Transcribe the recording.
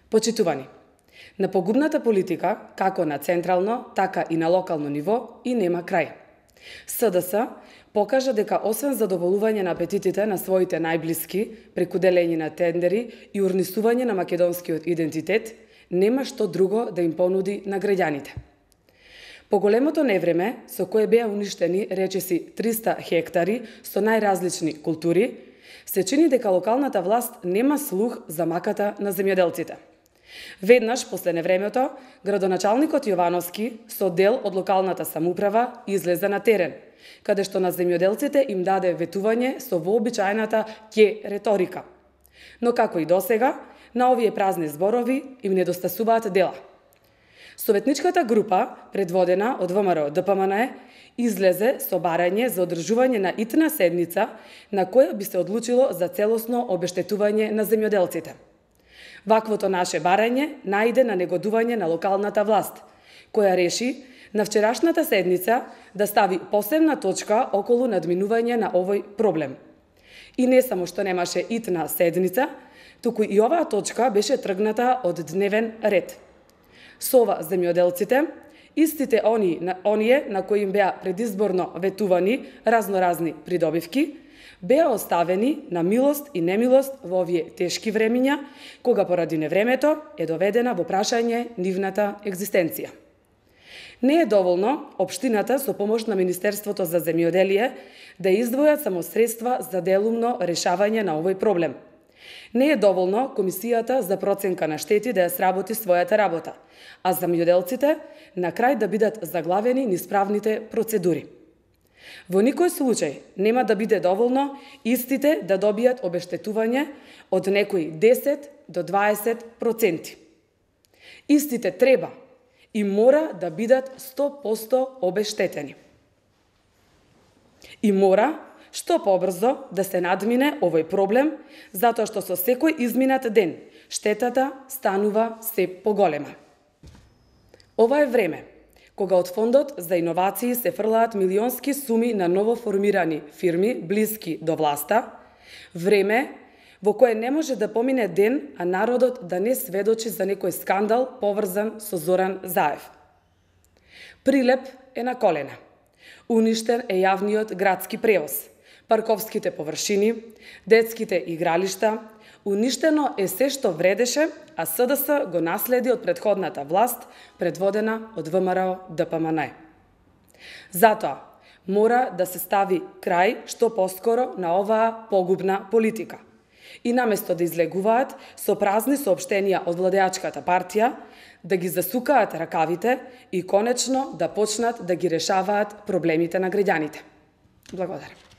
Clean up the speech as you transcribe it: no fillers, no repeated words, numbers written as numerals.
Почитувани, на погубната политика, како на централно, така и на локално ниво, и нема крај. СДС покажа дека освен задоволување на апетитите на своите најблиски, преку делење на тендери и урнисување на македонскиот идентитет, нема што друго да им понуди на граѓаните. По големото невреме, со кое беа уништени речиси 300 хектари со најразлични култури, се чини дека локалната власт нема слух за маката на земјоделците. Веднаш после невремето, градоначалникот Јовановски со дел од локалната самоуправа излезе на терен, каде што на земјоделците им даде ветување со вообичаената ќе реторика. Но како и досега, на овие празни зборови им недостасуваат дела. Советничката група, предводена од ВМРО ДПМН, излезе со барање за одржување на итна седница на која би се одлучило за целосно обештетување на земјоделците. Ваквото наше барање најде на негодување на локалната власт, која реши на вчерашната седница да стави посебна точка околу надминување на овој проблем. И не само што немаше итна седница, туку и оваа точка беше тргната од дневен ред. Со ова земјоделците, истите оние на кои им беа предизборно ветувани разноразни придобивки, беа оставени на милост и немилост во овие тешки времиња, кога поради невремето е доведена во прашање нивната екзистенција. Не е доволно општината со помош на Министерството за земјоделие да издвојат само средства за делумно решавање на овој проблем. Не е доволно Комисијата за проценка на штети да ја сработи својата работа, а земјоделците на крај да бидат заглавени низ правните процедури. Во никој случај нема да биде доволно истите да добијат обештетување од некои 10 до 20%. Истите треба и мора да бидат 100% обештетени. И мора што побрзо да се надмине овој проблем, затоа што со секој изминат ден штетата станува се поголема. Ова е време кога од Фондот за иновации се фрлаат милионски суми на новоформирани фирми блиски до власта, време во кое не може да помине ден, а народот да не сведочи за некој скандал поврзан со Зоран Заев. Прилеп е на колена. Уништен е јавниот градски превоз, парковските површини, детските игралишта, уништено е се што вредеше, а СДС го наследи од претходната власт, предводена од ВМРО ДПМН. Затоа, мора да се стави крај што поскоро на оваа погубна политика. И наместо да излегуваат со празни соопштенија од владеачката партија, да ги засукаат ракавите и конечно да почнат да ги решаваат проблемите на граѓаните. Благодарам.